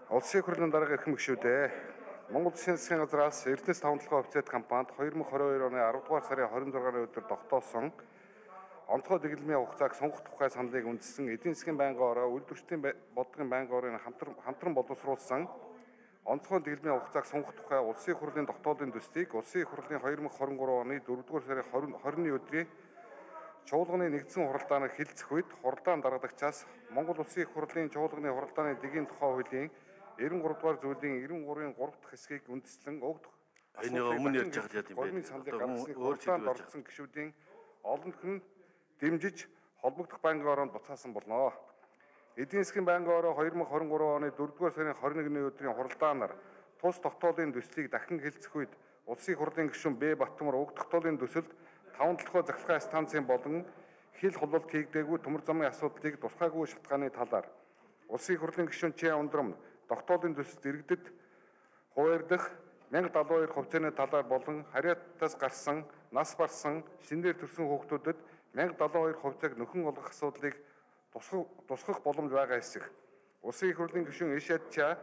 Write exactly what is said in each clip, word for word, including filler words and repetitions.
Улсын хурлын дарга эрхэм гишүүдээ Монгол Улсын засгийн газраас Эрдэнэс таван толгой офицерт компанид хоёр мың двадцать хоёр оны аравдугаар сарын хорин зургааны өдөр тогтоосон онцгой дэглэмийн хугацааг сонгох тухай саналыг үндэслэн эдийн засгийн байнгын ороо үйлдвэрчдийн бодлогын байнгын орын хамтран боловсруулсан онцгой дэглэмийн хугацааг сонгох тухай Улсын хурлын тогтоолын төслийг Улсын хурлын хоёр мың двадцать trois оны дөрөвдүгээр сарын хорины өдрийн чуулганы нэгдсэн хуралдаанаар хэлэлцэх үед хуралдаан даргадагчаас Монгол Улсын их хурлын чуулганы хуралдааны дэгийн тухай хуулийн девяносто три дугаар зүйлийн девяносто три-ийн гурав дахь хэсгийг үндэслэн өгд энэ өмнө ярьж байгаа юм байна. Саналыг гаргасан хуралдаанд орсон гишүүдийн олонх нь дэмжиж холбогдох байнгын ороонд буцаасан болно. Эдийн засгийн байнгын ороо хоёр мың двадцать три оны дөрөвдүгээр сарын хорин нэгний өдрийн хуралдаанаар тус тогтоолын төслийг дахин хэлэлцэх үед Улсын их хурлын гишүүн Б Баттамар уг тогтоолын төсөлд таван толгой захиргааны станцын болон хил хулбалт хийгдээгүй төмөр замын асуудлыг тусгаагүй шалтгааны талаар Улсын их хурлын гишүүн Ч Ундрам тогтоолын төсөлд иргэдэд хуваардах мянга далайн хоёр хувьцааны талаар болон харьяатаас гарсан нас барсан шинээр төрсэн хүүхдүүдэд мянга далайн хоёр хувьцааг нөхөн олгох асуудлыг тусгах боломж байгаа хэсэг. Улсын их хурлын гишүүн Эшат Ча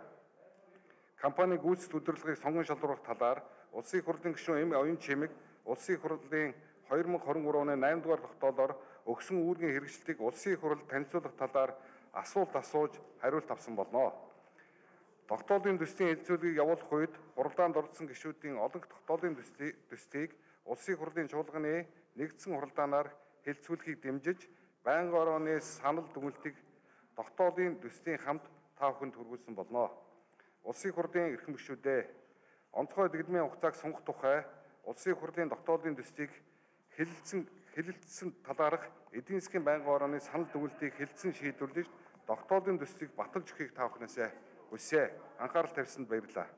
компани гүйцэтгэх удирдлагыг сонгон шалруулах талаар Улсын их хурлын гишүүн М Оюн Чимэг Улсын их хурлын хоёр мың двадцать три оны найман дугаар тогтоолоор өгсөн үүргийн хэрэгжилтийг Улсын их хурлд танилцуулах талаар асуулт асууж хариулт авсан болно. Тогтоолын төслийн хэлэлцүүлгийг явуулах үед хуралдаанд орсон гишүүдийн олонх тогтоолын төслийг Улсын их хурлын чуулганы нэгдсэн хуралдаанаар хэлэлцүүлэхийг дэмжиж байнгын орооны санал дүгнэлтийг тогтоолын төслийн хамт та бүхэнд хүргүүлсэн болно. Улсын их хурлын эрхэм гишүүдээ онцгой дэглэмийн хугацааг сонгох тухай Улсын их хурлын тогтоолын төслийг хэлэлцэн хэлэлцсэн талаарх эдийн засгийн байнгын орооны санал дүгнэлтийг хэлэлцэн шийдвэрлэж тогтоолын төслийг баталж өгөхийг та бүхнээсээ хүсье. Анхаарал тавьсанд баярлалаа.